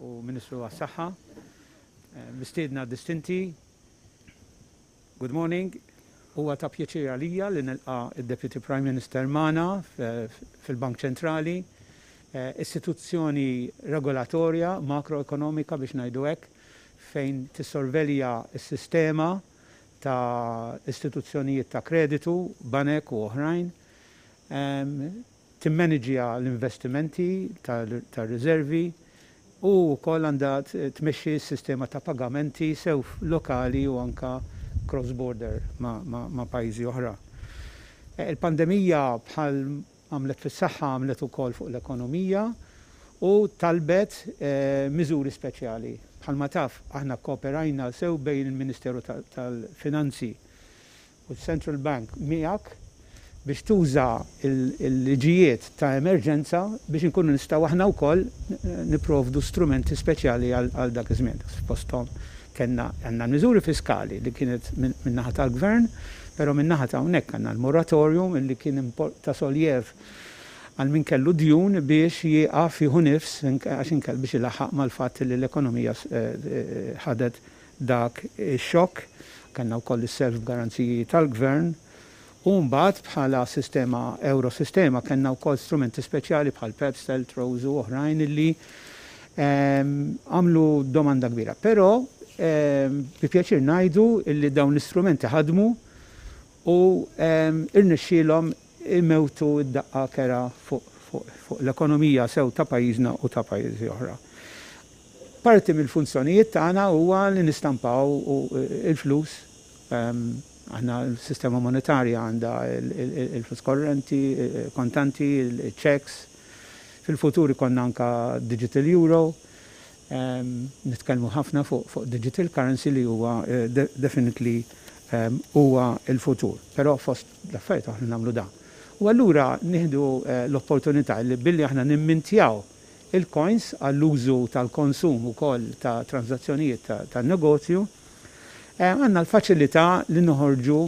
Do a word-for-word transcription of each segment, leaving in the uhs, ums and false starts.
u Ministru għas-Saħħa, mistiedna distinti. Good morning. Huwa ta' pjaċir għalija li nilqa' id-Deputy Prime Minister magħna fil-Bank Ċentrali, istituzzjoni regolatorja makroekonomika, biex ngħidu hekk, fejn tissorvelja s-sistema ta' istituzzjonijiet ta' kreditu, banek u oħrajn, timmaniġja l-investimenti tar-riservi u wkoll għandha tmexxi s-sistema ta' pagamenti sew lokali u anka cross-border ma', ma, ma pajjiżi oħra. Il-pandemija, bħal għamlet fis-saħħa, għamlet ukoll fuq l-ekonomija u talbet eh, miżuri speċjali. Bħalma taf, aħna kooperajna sew bejn il-Ministeru tal-Finanzi u l-Central Bank miegħek biex tuża il-liġijiet ta' emerġenza biex inkunu nistgħu aħna wkoll nipprovdu strumenti speċjali għal dak iż-żmien. Fosthom kellna għandna miżuri fiskali li kienet min-naħa tal-gvern, però min-naħa ta' hawnhekk għandna l-moratorium li kien ta' soljev għal min kellu djun biex jieqaf jieħu nifs, għax inkell biex ilaħħaq mal-fatt li l-ekonomija ħadet dak ix-xokk. Kellna wkoll is-self garanziji tal-gvern. U mbagħad bħala sistema, Eurosistema, kellna wkoll strumenti speċjali bħal PEPs, TLTROs u oħrajn illi għamlu domanda kbira. Però bi pjaċir ngħidu illi dawn l-istrumenti ħadmu u irnexxielhom imewtu id-daqqa kerha fuq l-ekonomija sew ta' pajjiżna u ta' pajjiżi oħra. Parti mill-funzjonijiet tagħna huwa li nistampaw il-flus. Aħna l-sistema monetarja għandha il-flus korrenti, kontanti, il-checks. Fil-futur ikollna anka digital euro. Nitkellmu ħafna fuq digital currency li huwa definitely huwa il-futur. Però fost l-affarijiet aħna nagħmlu dan. U allura nieħdu l-opportunità li billi aħna nimmintjaw il-coins għall-użu tal-konsum ukoll ta' transazzjonijiet tan-negozju, għandna l-faċilità li noħorġu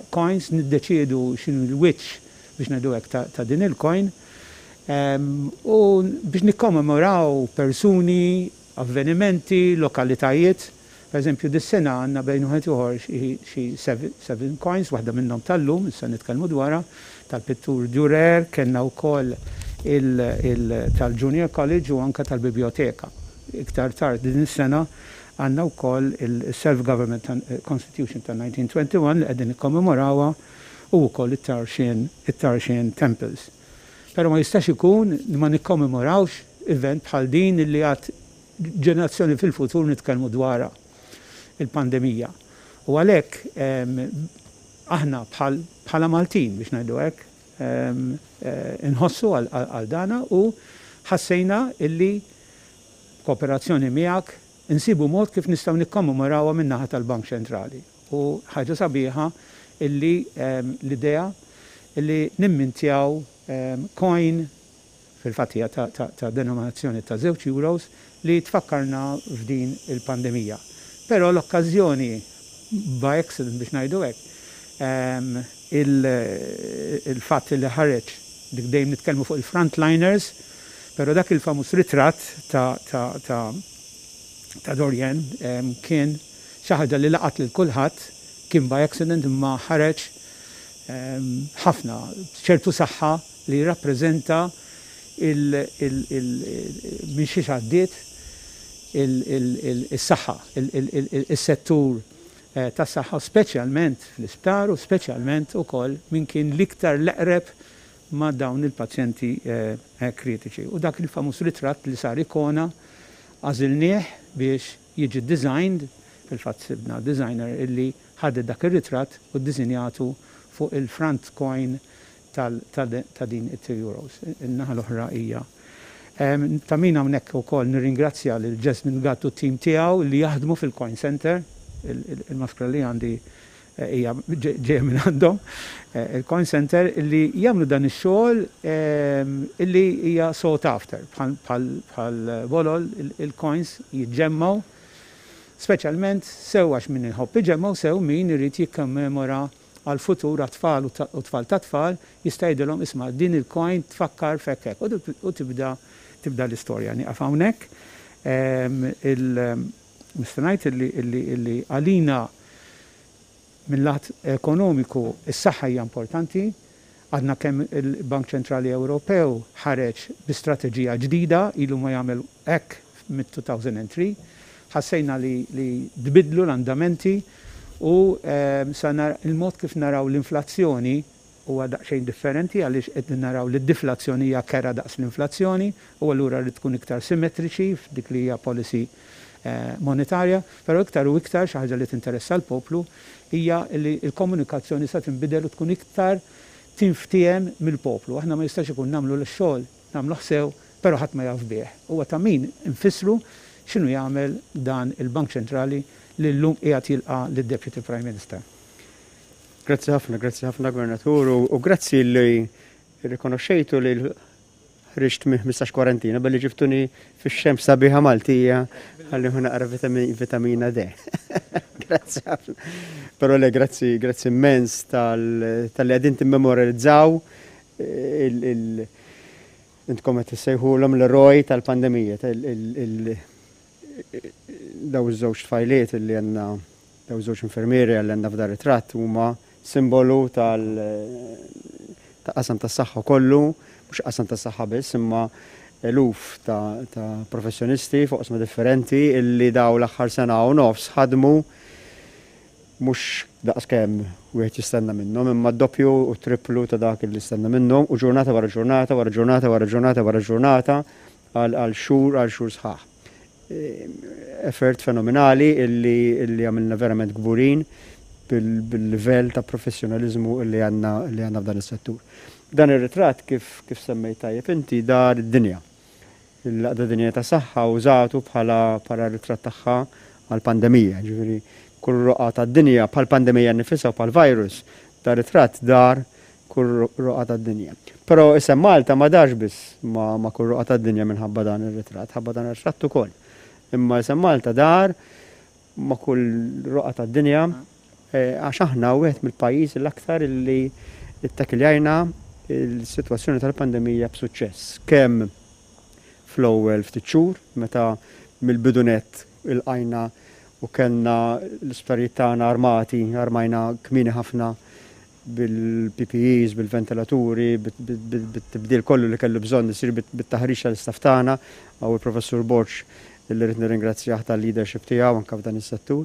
coins, niddeċiedu x'inhu l-wiċċ, biex ngħidu hekk, ta' din il-coin u biex nikkommemoraw persuni, avvenimenti, lokalitajiet. Per eżempju, dis-sena għandna bejn wieħed ieħor xi seven coins, waħda minnhom tal-lum, issa nitkellmu dwarha, tal-pittur Dürer, kellna wkoll tal-Junior College u anka tal-Biblioteka. Iktar tard din is-sena għandna wkoll il-Self-Government Constitution ta' elf disa' mija u wieħed u għoxrin li qegħdin nikkommemorawha u wkoll it-Tarxien Temples. Però ma jistax ikun li ma nikkommemorawx event bħal din li għad ġenerazzjoni fil-futur nitkellmu dwarha, il-pandemija. U għalhekk aħna bħala Maltin, biex ngħidu hekk, inħossu għal dana u ħassejna illi kooperazzjoni miegħek insibu mod kif nistgħu nikkommemorawha min-naħa tal-Bank Ċentrali. U ħaġa sabiħa illi l-idea illi nimmintjaw coin, fil-fatt hija ta', ta, ta denominazzjoni ta' żewġ euros, li tfakkarna f'din il-pandemija. Però l-okkażjoni, by accident, biex ngħidu hekk, il-fatt li ħareġ dik, dejjem nitkellmu fuq il-frontliners, però dak il-famuż ritratt ta', ta, ta, ta' Dorian kien xi ħaġa li laqat lil kulħadd, kien by accident imma ħareġ ħafna ċertu saħħa li jirrappreżenta minn xiex għaddiet il-saħħa, il-settur tas-saħħa, speċjalment fl-isptar u speċjalment ukoll min kien l-iktar l-eqreb ma' dawn il-pazjenti kritiċi. U dak il-famuż ritratt li sar ikona għażilnieh biex jiġi designed, fil-fatt sibna designer illi ħadet dak ir-ritratt u ddisinjatu fuq il-front coin ta' din it-two euros. In-naħa l-oħra hija. Ta' min hawnhekk ukoll nirringrazzja lil Jasmine Gatt u t-tim tiegħu li jaħdmu fil-Coin Center, il-maskra li għandi hija ġejja minn għandhom, il-Coin Center, li jagħmlu dan ix-xogħol illi hija sought after bħal bolol il-coins jiġġemmaw, speċjalment sew għax min iħobb iġemmaw, sew min irid jikkommemora għal-futur, għat-tfal u tfal ta' tfal, jista' jgħidilhom, "Isma', din il-coin tfakkar f'hekk," u tibda tibda l-istorja. Nieqaf hawnhekk. Nista' ngħid illi għalina minn lat ekonomiku is-saħħa hija importanti. Għadna kemm il-Bank Ċentrali Ewropew ħareġ bi strateġija ġdida, ilu ma jagħmel hekk mit-elfejn u tlieta. Ħassejna li, li tbidlu l-andamenti u sa il-mod kif naraw l-inflazzjoni huwa daqsxejn differenti, għaliex qed naraw li d-deflazzjoni hija kerha daqs l-inflazzjoni u allura rrid tkun iktar simmetriċi f'dik li hija policy eh, monetarja, però iktar u iktar xi ħaġa li tinteressa l-poplu hija li l-komunikazzjoni sa tinbidel u tkun iktar tinftiehem mill-poplu. Aħna ma jistax ikun nagħmlu l-xogħol, nagħmlu sew, però ħadd ma jaf bih. Huwa ta' min infissru x'inhu jagħmel dan il-Bank Ċentrali li llum qiegħed jilqa' lid-Deputy Prime Minister. Grazzi ħafna, grazzi ħafna, Gvernatur, u grazzi li rikonoxxejtu li ħriġt minn ħmistax kwarantina billi ġibtuni fix-xemx sabiħa Maltija ħalli hu naqra vitamina D. Grazzi ħafna. Però le, grazzi, grazzi immens talli qegħdin timmemorializzaw il- intkom qed issejħulhom l-eroj tal-pandemija, daw iż-żewġ tfajliet li għandna, daw iż-żewġ infermieri li għandna f'dar ritratt, huma simbolu tal ta' qasam tas-saħħa kollu, mhux qasam tas-saħħa biss, imma eluf ta', ta professjonisti fuq oqsma differenti illi daw l-aħħar sena u nofs ħadmu mhux daqs kemm wieħed jistenna minnhom, imma doppju u triplu ta' dak li jistenna minnhom, u ġurnata wara ġurnata wara ġurnata wara ġurnata wara ġurnata għal xhur għal xhur sħaħ. Effort fenomenali illi illi għamilna verament kburin bil-livell ta' professjonalizmu illi għandna li għandna f'dan is-settur. Dan ir-ritratt, kif kif semmejt tajjeb inti, dar id-dinja. Il-Għaqda Dinjija ta' Saħħa użatu bħala bħala ritratt tagħha għal-pandemija, ġifieri kull roqgħa tad-dinja, bħal pandemija nifisha u bħal virus, da ritratt dar kull roqgħa tad-dinja. Però isem Malta ma darx biss ma, ma kull roqgħa tad-dinja minħabba dan ir-ritratt, ħabba dan ir-ritratt ukoll. Imma isem Malta dar ma kull roqgħa tad-dinja eh, għax aħna wieħed mill-pajjiż l-aktar illi ittakkiljajna il-sitwazzjoni tal-pandemija b'suċċess. Kemm fl-ewwel ftit xhur, meta mill-bidu nett ilqajna u kellna l-isptarijiet tagħna armati, armajna kmieni ħafna bil-P P Es, bil-ventilaturi, bit-tibdil kollu li kellu bżonn isir, bit-taħriġ tal-istaff tagħna, hawn il-Professur Borg li rrid nirringrazzjah tal-leadership tiegħu anke f'dan is-settur.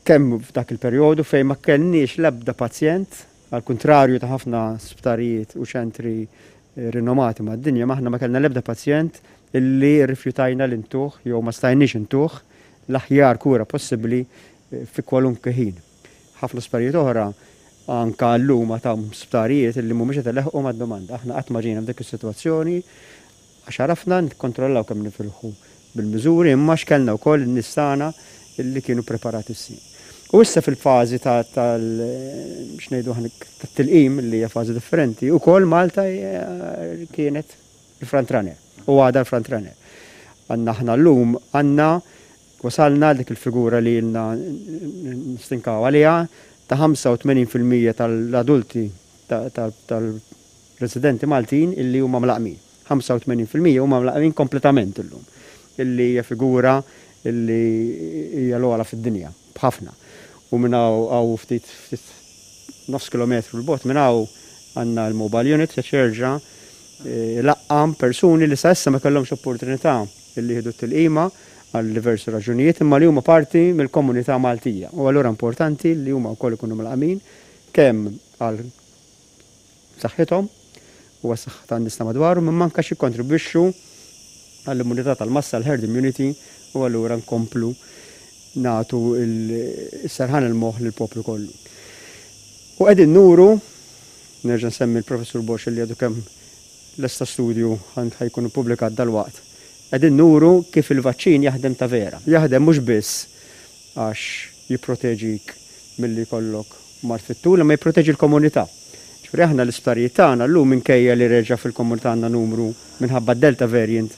Kemm f'dak il-perjodu fejn ma kellniex l-ebda pazjent, għal kontrarju ta' ħafna sptarijiet u ċentri eh, rinomati mad-dinja, m'aħna ma kellna l-ebda pazjent illi rrifjutajna li ntuh jew ma stajniex intuh l-aħjar kura possibbli eh, fi kwalunkwe ħin. Ħafna sptarijiet oħra anka llum ta' sptarijiet illi mhumiex qed ileħqu mad-domanda. Aħna qatt ma ġejna f'dik is-sitwazzjoni għax għarafna nikkontrollaw kemm nifilħu bil-miżuri, imma x'kellna wkoll in-nies tagħna illi kienu preparati s. U issa fil-fażi ta' tal x'ngħidu aħna tat-tilqim, li hija fażi differenti, ukoll Malta eh, kienet il-front runner u għadha l-front runner. Għandna aħna llum għandna wasalna dik il-figura li ilna nistinkaw għaliha ta' ħamsa u tmenin fil-mija tal-adulti tal-residenti Maltin illi huma mlaqqmin. ħamsa u tmenin fil-mija huma mlaqqmin kompletament illum. Illi hija figura illi hija l-ogħla fid-dinja b'ħafna. U minn hawn ftit ftit nofs kilometru 'l bogħod minn hawn għandna l-mobile unit se jerġa' eh, laqqam persuni li sa issa ma kellhomx opportunità illi jieħdu t-tilqima għal diversi raġunijiet, imma li huma parti mill-komunità Maltija. U allura importanti li huma wkoll ikunu mlaqqmin kemm għal saħħithom u għas-saħħa tan-nies ta' madwarhom, imma anke jikkontribwixxu għall-immunità tal-massa, l-herd immunity, u allura nkomplu nagħtu s-serħan il-moħħ lill-poplu kollu. U qegħdin nuru, nerġa' nsemmi l-Professur Bosch li għadu kemm lesta studju ħa jkun ippubblikat dal-waqt. Qegħdin nuru kif il-vaċċin jaħdem ta' vera. Jaħdem mhux biss għax jipproteġik milli jkollok mard fit-tul, imma jipproteġi l-komunità. Ġifieri aħna l-isptarijiet tagħna llum, minkejja li reġa' fil-komunità għandna numru minħabba Delta variant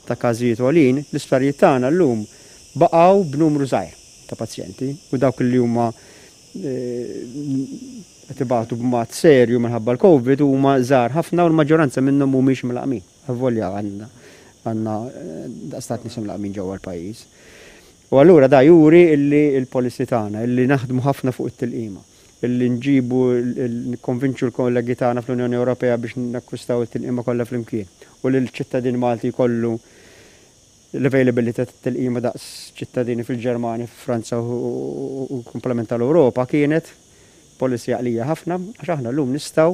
ta' każijiet għolin, l-isptarijiet tagħna llum baqgħu b'numru żgħir ta' pazjenti u dawk li huma eh, qed ibatu b'mod serju minħabba l-Covid huma żgħar ħafna u l-maġġoranza minnhom mhumiex mlaqqmin. Avolja għandna għandna daqstant nies imlaqqmin ġewwa l-pajjiż. U allura da juri illi l-policy tagħna, illi naħdmu ħafna fuq it-tilqima, illi nġibu, nikkonvinċu l-kollegi tagħna fl-Unjoni Ewropea biex nakkwistaw it-tilqima kollha flimkien u li l-ċittadin Malti jkollu l-availability tat-tilqima daqs ċittadini fil-Ġermanja, fil-Franza u komplement tal-Ewropa kienet policy għaqlija ħafna, għax aħna llum nistgħu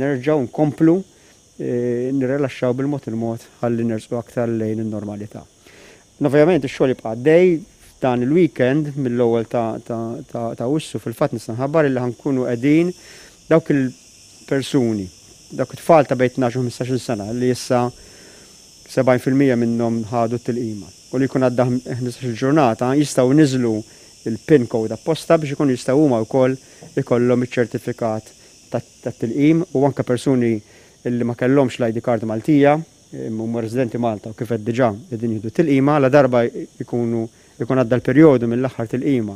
nerġgħu nkomplu nirrilaxxaw bil-mod il-mod ħalli nersqu aktar lejn in-normalità. Ovvjament ix-xogħol jibqa' għaddej dan il-weekend mill-ewwel ta' Awwissu fil-fatt nista' nħabbar illi ħankunu qegħdin dawk il-persuni, dawk it-tfal ta' bejn tnax u ħmistax-il sena li issa sebgħin fil-mija minnhom ħadu t-tilqima u li jkun għadda ħmistax-il ġurnata jistgħu niżlu il-PIN code apposta biex ikunu jistgħu huma wkoll ikollhom iċ-ċertifikat tat-tilqim u anke persuni illi ma kellhomx l-I D card Maltija, huma residenti Malta u kif qed diġà qegħdin jieħdu tilqima, la darba jkunu ikun għadda l-perjodu mill-aħħar tilqima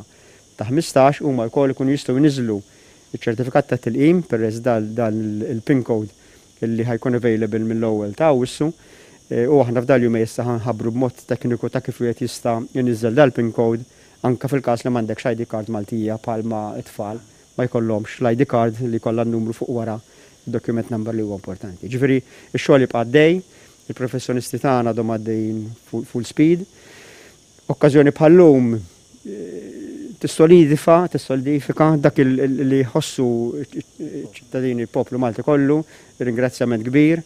ta' ħmistax huma wkoll ikunu jistgħu jniżlu iċ-ċertifikat ta' tilqim peress dan il-PIN code illi ħajkun available mill-ewwel ta' Awwissu. U aħna f'dal jumej issa ħanħabbru b'mod tekniku ta' kif wieħed jista' jniżżel dal-PIN code anke fil-każ li m'għandekx I D card Maltija bħalma t-tfal ma jkollhomx l-I D card li jkollha n-numru fuq wara document number li huwa importanti. Ġifieri x-xogħol jibqa' għaddej, il-professjonisti tagħna għadhom għaddejjin full speed. Okkażjoni bħal-lum tissolidifika, tissolidifika dak li jħossu ċ-ċittadini, il-poplu Malti kollu, ringrazzjament kbir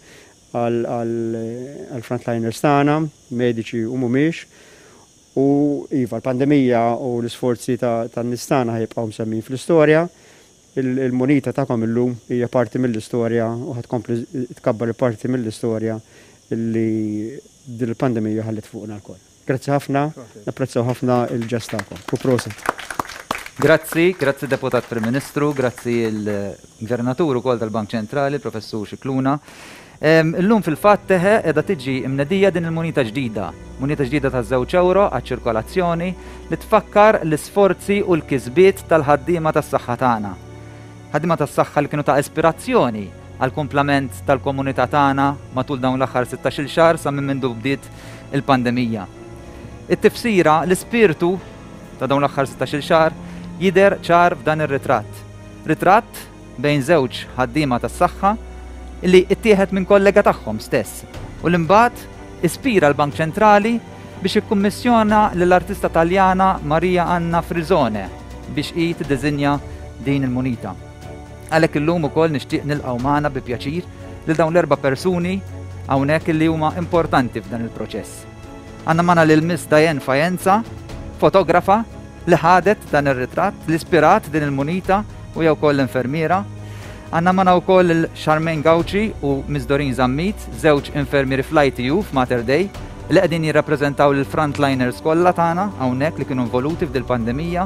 għall-frontliners tagħna, mediċi u mhumiex. U iva, l-pandemija u l-isforzi tan-nies tagħna ħajbqgħu msemmin fl-istorja. Il-munita tagħkom illum hija parti mill-istorja u ħadkompli tkabbar parti mill-istorja li din il-pandemija ħallet fuqna lkoll. Grazzi ħafna, napprezzaw ħafna il-ġest tagħkom. U proset. Grazzi, grazzi Deputat Prim Ministru, grazzi l-Gvernatur ukoll tal-Bank Ċentrali, Professur Scicluna. Illum fil-fatt teħe qiegħda tiġi imnedija din il-munita ġdida, munita ġdida ta' żewġ euro għaċ-ċirkolazzjoni li tfakkar l-isforzi u l-kisbiet tal-ħaddiema tas-saħħa tagħna. Ħaddiema tas-saħħa li kienu ta' ispirazzjoni għall-kumplament tal-komunità tagħna matul dawn l-aħħar sittax-il xahar sa minn mindu bdiet il-pandemija. It-tifsira, l-ispirtu ta' dawn l-aħħar sittax-il xahar jidher ċar f'dan ir-ritratt. Ritratt bejn żewġ ħaddiema tas-saħħa li ttieħed minn kollega tagħhom stess u li mbagħad ispira l-Bank Ċentrali biex ikkummissjona lill-artista Taljana Maria Anna Frisone biex hi tiddiżinja din il-munita. Għalhekk illum ukoll nixtieq nilqgħu magħna bi pjaċir lil dawn l-erba' persuni hawnhekk li huma importanti f'dan il-proċess. Għandna magħna lil Miss Diane Faenza, fotografa li ħadet dan ir-ritratt, li ispirat din il-munita u jew ukoll l-infermiera. Għandna magħna wkoll il Charmaine Gauci u Miss Doreen Zammit, żewġ infermieri fl-I T U f'Mater Dei, li qegħdin jirrappreżentaw lill-frontliners kollha tagħna hawnhekk li kienu involuti f'dil-pandemija.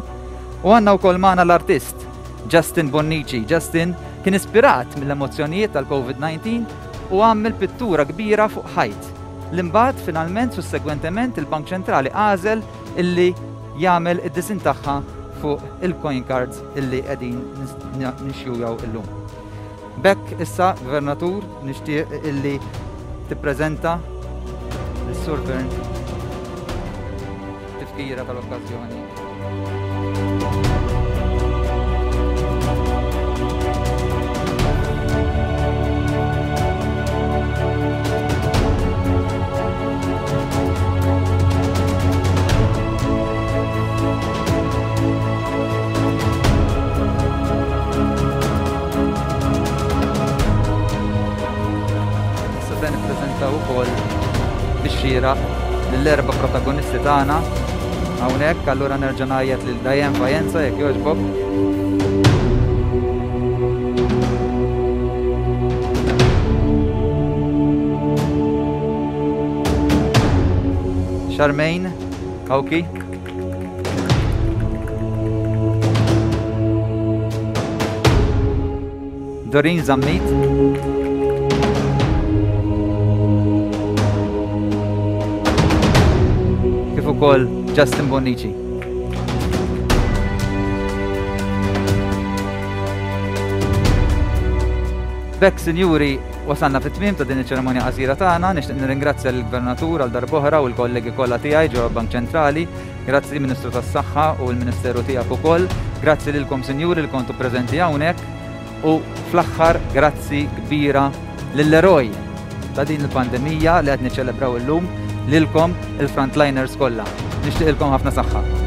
U għandna wkoll magħna l-artist Justin Bonnici. Justin kien ispirat mill-emozzjonijiet tal-COVID nineteen u għamel pittura kbira fuq ħajt. L-imbagħad finalment sussegwentement il-Bank Ċentrali għażel illi jagħmel id-disin tagħha fuq il-coin cards illi qegħdin nixjujaw illum. B'hekk issa, Gvernatur, nixtieq illi tippreżenta lis-Sur Fearne tifkira tal-okkażjoni. L-erba' protagonisti tagħna hawnhekk, allura nerġa' ngħajjat lil Diane Faenza jekk jogħġbok. Charmaine Cauchi. Doreen Zammit. Kif ukoll Justin Bonnici. B'hekk, sinjuri, wasalna fit-tmiem ta' din iċ-ċerimonja qasira tagħna. Nixtieq nirringrazzja lill-Gvernatur għal darb'oħra u l-kollegi kollha tiegħi ġewwa Bank Ċentrali. Grazzi, Ministru tas-Saħħa, u l-Ministeru tiegħek ukoll. Grazzi lilkom, sinjuri, li kontu preżenti hawnhekk u fl-aħħar grazzi kbira lill-eroj ta' din il-pandemija li qed niċċelebraw illum, lilkom il-frontliners kollha. Nixtieqilkom ħafna saħħa.